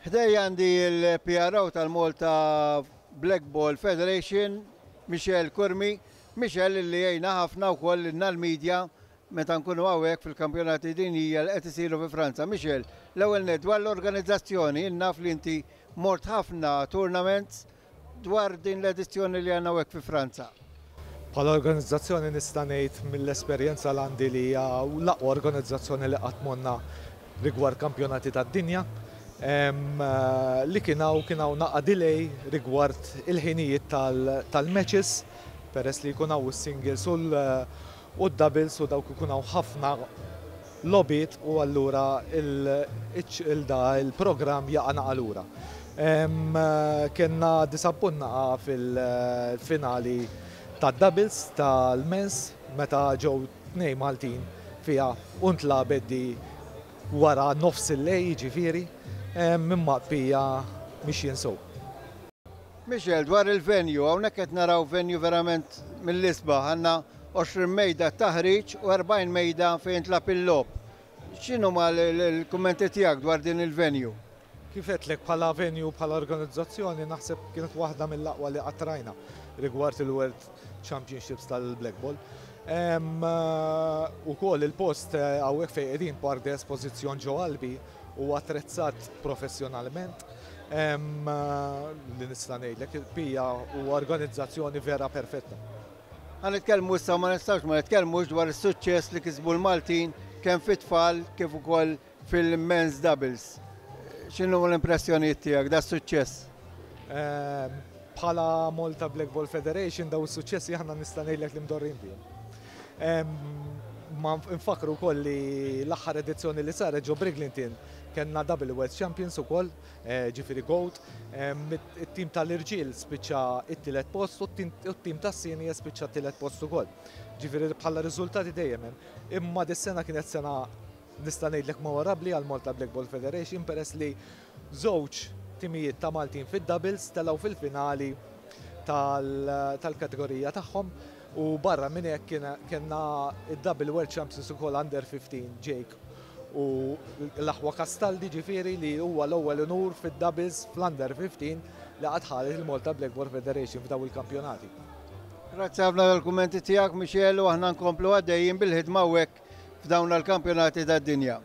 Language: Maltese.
Ħdejja għandi l-PRO tal-Malta Blackball Federation, Michel Curmi. Michel li jgħinna ħafna wkoll lilna l-media meta nkunu hawnhekk fil-kampjonati dinjija li qed isiru fi Franza. Michel, l-ewwel nett dwar l-organizzazzjoni, naf li inti mort ħafna tournaments dwar din l-edizzjoni li għandna hawnhekk fi Franza. Bħala organizzazzjoni nista' ngħid mill-esperjenza l għandi li hija l-aqwa organizzazzjoni li qatt morna rigward kampjonati tad-dinja. Li kien hawn naqa delay rigward il-ħinijiet tal-matches, peress li jkun hawn is-singles u d-doubles u dawk ikun hawn ħafna logħbiet u allura il-da il-programm jaqa' naqa lura. Kellna disappunt naqa fil-finali tad-doubles tal-mens meta ġew tnej Maltin fiha u ntlagħbet di wara nofs il-lejl, ġifieri, imma bija mixjin sew. Michel, dwar il-venue, hawnhekk qed naraw venue verament mill-isbaħ, għandna 20 mejda taħriġ u 40 mejda fejn tlagħab il-logħob. X'inhuma l-kummenti tiegħek dwar din il-venue? Kif għedtlek, bħala venue, bħala organizzazzjoni, naħseb kienet waħda mill-aqwa li qatt rajna rigward il-World Championships tal-Blackball. Ukoll il-post hawnhekk fejn qegħdin, Parc de Esposition ġo Albi, u attrezzat professjonalment. Li nista' ngħidlek, pija u organizzazzjoni vera perfetta. Ħa nitkellmu issa, ma nistax ma nitkellmux dwar is-suċċess li kisbu l-Maltin kemm fit-tfal kif ukoll fil-men's doubles. X'inhu l-impressjonijiet tiegħek da suċċess? Bħala Malta Blackball Federation, daw is-suċċessi aħna nista' ngħidlek li mdorrin bihom. Ma nfakru wkoll li l-aħħar edizzjoni li saret ġo Bridlington kellna Double World Champions ukoll, ġifieri Gold. It-tim tal-irġiel spiċċa it-tielet post u t-tim tas-senior spiċċa t-tielet post ukoll. Ġifieri bħala riżultati dejjem hemm. Imma dis-sena kienet sena, nista' ngħidlek, memorabbli għal Malta Blackball Federation, peress li żewġ timijiet ta' Maltin fid-doubles telgħu fil-finali tal-kategorija tagħhom u barra minn hekk kellna id-Double World Champions ukoll under 15, Jake u l-aħwa Castaldi, ġifieri li huwa l-ewwel unur fid-doubles fl-under 15 li qatt ħadet il-Malta Blackball Federation f'daw il-kampjonati. Grazzi ħafna tal-kummenti tiegħek, Michel, u aħna nkomplu għaddejjin bil-ħidma hawnhekk f'dawn l-kampjonati tad-dinja.